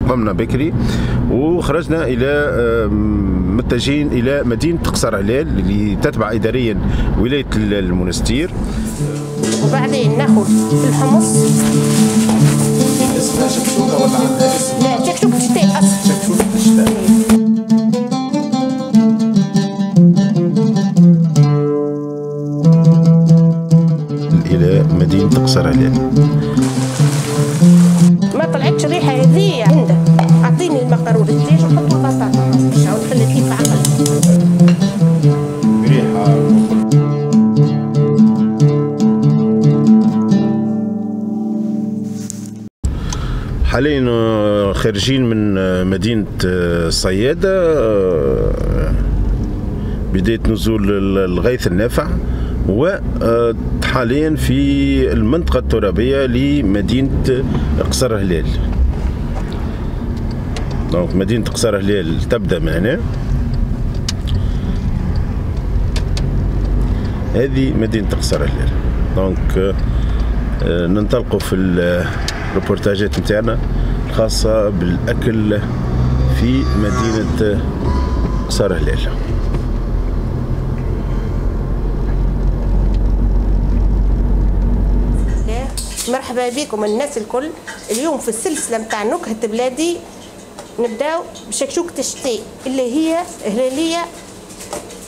قمنا بكري وخرجنا الى متجهين الى مدينة قصر هلال اللي تتبع اداريا ولاية المنستير. وبعدين ناخذ الحمص. اسمها شكشوكه ولا عندها اسم؟ لا، شكشوكه الشتاء اصلا. شكشوكه الشتاء. الى مدينة قصر هلال. ما طلعتش الريحة هذه عندك. اعطيني المقارون الدجاج وحطوا البطاطا باش عاود خلي كيف عقل. ريحه. حاليا خارجين من مدينة الصيادة، بداية نزول الغيث النافع، وحاليا في المنطقة الترابية لمدينة قصر هلال. donc مدينة قصر هلال تبدأ من هنا. هذه مدينة قصر هلال. donc ننطلقوا في الريبورتاجات نتاعنا الخاصة بالأكل في مدينة قصر هلال. مرحبا بكم الناس الكل. اليوم في السلسلة نتاع نكهة بلادي نبداو بشكشوكة الشتاء اللي هي هلالية،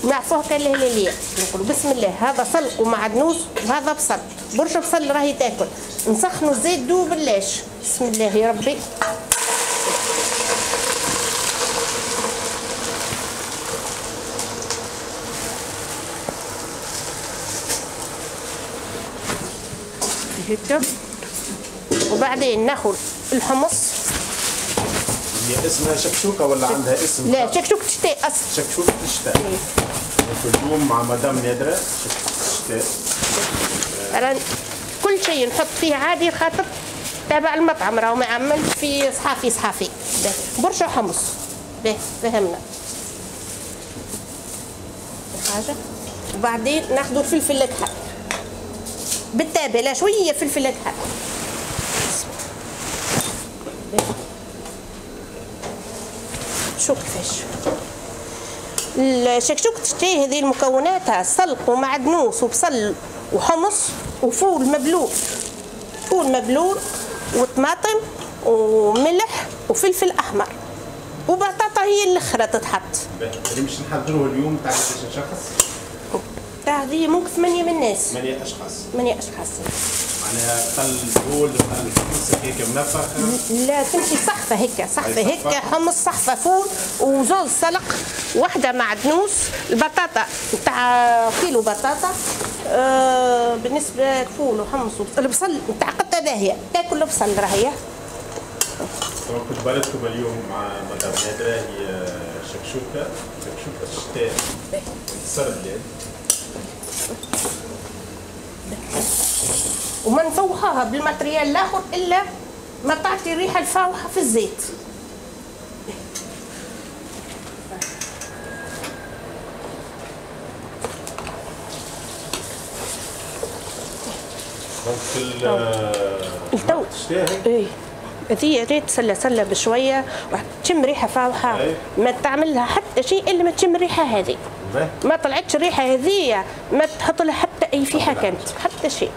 نعرفوها كان الهلالية. نقولوا بسم الله. هذا سلق ومعدنوس وهذا بصل، برشا بصل راهي تاكل. نسخنوا الزيت دو بلاش. بسم الله يا ربي. هكا. وبعدين ناخذ الحمص. هي اسمها شكشوكه ولا عندها اسم؟ لا، شكشوكه الشتاء اصلا. شكشوكه الشتاء. اليوم مع مدام نادرة شكشوكه الشتاء. كل شيء نحط فيه عادي خاطر تابع المطعم، راهو ما عملت في صحافي صحافي. برشا حمص. باهي فهمنا حاجة. وبعدين ناخذ الفلفل الاكحل بالتابلة، شوية فلفل اكحل. شوف كيفاش الشكشوكة الشتاء هذه مكوناتها سلق ومعدنوس وبصل وحمص وفول مبلول، فول مبلول وطماطم وملح وفلفل احمر وبطاطا هي الاخرى تتحط. اللي باش نحضروه اليوم تاع قداش شخص؟ تاع هذه ممكن 8 من الناس. 8 اشخاص. 8 اشخاص. معناها قل فول قل حمص هيك منفخ؟ لا، تمشي صحفه هيك، صحفه هيك، حمص صحفه فول وزوز سلق، واحدة معدنوس، البطاطا نتاع كيلو بطاطا. بالنسبة للفول وحمص البصل نتاع قطة باهيه، تاكل البصل راهي. طبعا كنت بالتكم اليوم مع مدام نادرة هي شكشوكه، شكشوكه الشتاء قصر هلال. وما نفوحوها بال matériel الاخر الا ما تعطي الريحة الفاوحه في الزيت. donc التو اي هذه ريت سله سله بشوية وتشم ريحه فاوحه. ما تعمل لها حتى شيء الا ما تشم الريحة هذه. ما طلعتش الريحة هذه ما تحط لها حتى اي فيحه كانت حتى شيء.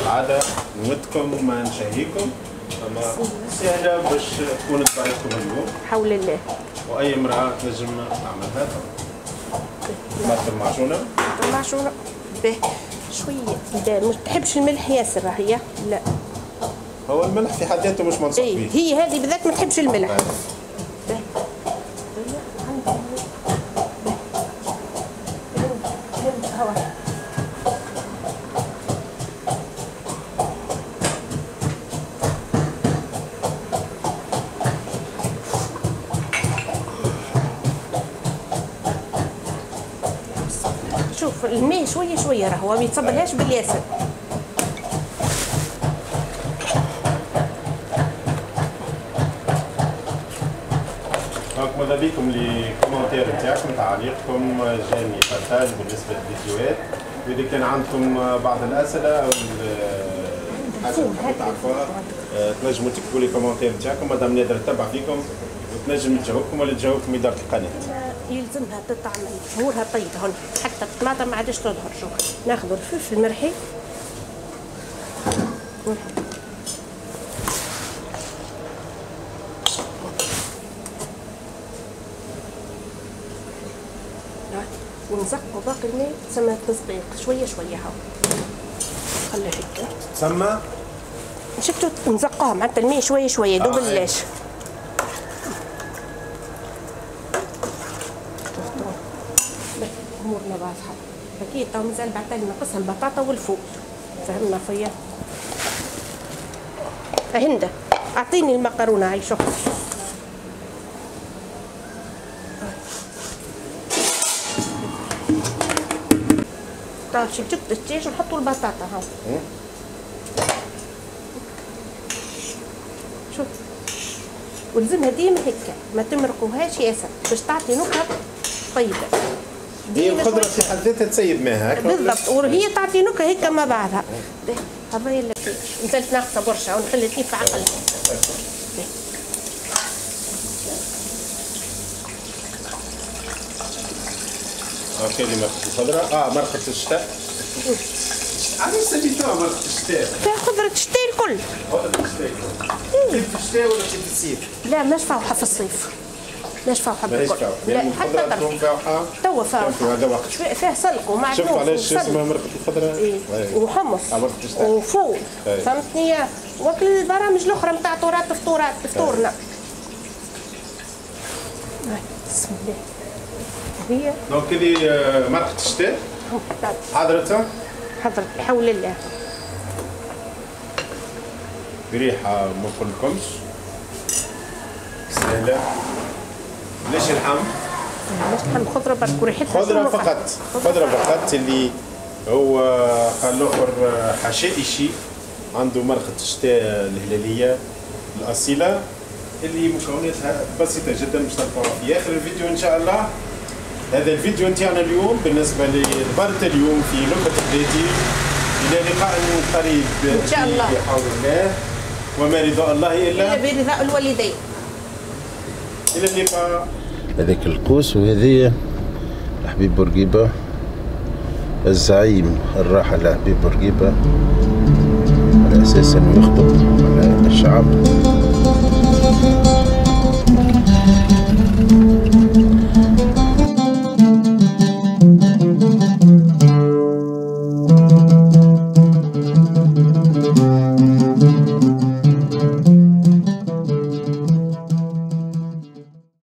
العادة نودكم وما نشهيكم، اما سهلة باش تكون طريقتكم اليوم حول الله، واي امراة تنجم تعملها. طماطم معجونه. معجونه به شوية. ما تحبش الملح ياسر هي؟ لا، هو الملح في حد ذاته مش منصوح به. هي هذه بالذات ما تحبش الملح. شوف الماء شوية شوية راهو ما يتصبلهاش بالياسر. donc ماذا بيكم les commentaires تاعكم، تعاليقكم، j'aime، partage بالنسبة للفيديوهات، واذا كان عندكم بعض الاسئلة او الفول تعرفوها، تنجموا تكتبوا les commentaires نتاعكم، مدام نادرة تتبع فيكم وتنجم تجاوبكم ولا تجاوبكم إدارة القناة. يلزمها تتعمل ظهورها طيب هون، حتى الطماطم ما عادش تظهر. شوف ناخذ الفلفل المرحي ونزقوا باقي الماء، تسمى تزقيق شوية شوية. هاو خليه هكا تسمى شفتوا نزقوها معناتها الماء شوية شوية دوب اللاش. شفتوا امورنا واضحة اكيد. تو مازال بعد ناقصها البطاطا والفول، فهمنا فيا؟ هنده اعطيني المقرونه هاي شوف. طيب شفتوا الدجاج ونحطوا البطاطا هاو. شوف ولزمها ديما هكا ما تمرقوهاش ياسر باش تعطي نكهة طيبة. هي الخضرة في حد ذاتها تسيب ماها هكا بالضبط، وهي تعطي نكهة هكا مع بعضها. هذا اللي مازالت ناقصه برشا ونخلي في عقلها. okay هذه مرقة الخضرة، مرقة الشتاء. علاش سميتوها مرقة الشتاء؟ فيها خضرة الشتاء الكل. خضرة الشتاء الكل. في الشتاء ولا في الصيف؟ لا ماش فاوحة في الصيف. ماش فاوحة بالكل. لا حتى طرف. توا فاوحة. هذا وقت. فيه سلق ومعدنوس. شفت علاش اسمها مرقة الخضرة؟ إيه. وحمص. وفول. فهمتني؟ وكل البرامج الأخرى نتاع تراث فطورات فطورنا. بسم الله. هي donc هذه مرقة الشتاء حضرتها؟ حضرت بحول الله. بريحة ما نقولكمش سهلة. ليش اللحم؟ علاش اللحم؟ خضرة برك وريحتها خضرة فقط، خضرة فقط اللي هو قال الآخر حشائشي عنده مرقة الشتاء الهلالية الأصيلة اللي مكوناتها بسيطة جدا باش تلقاوها في آخر الفيديو إن شاء الله. هذا الفيديو نتاعنا اليوم بالنسبة لبرة اليوم في نكهة بلادي. إلى لقاء قريب إن شاء الله بحول الله، وما رضاء الله إلا برضاء الوالدين. إلى اللقاء. هذاك القوس وهذه حبيب بورقيبة الزعيم الراحل حبيب بورقيبة على أساس أنه يخطب على الشعب.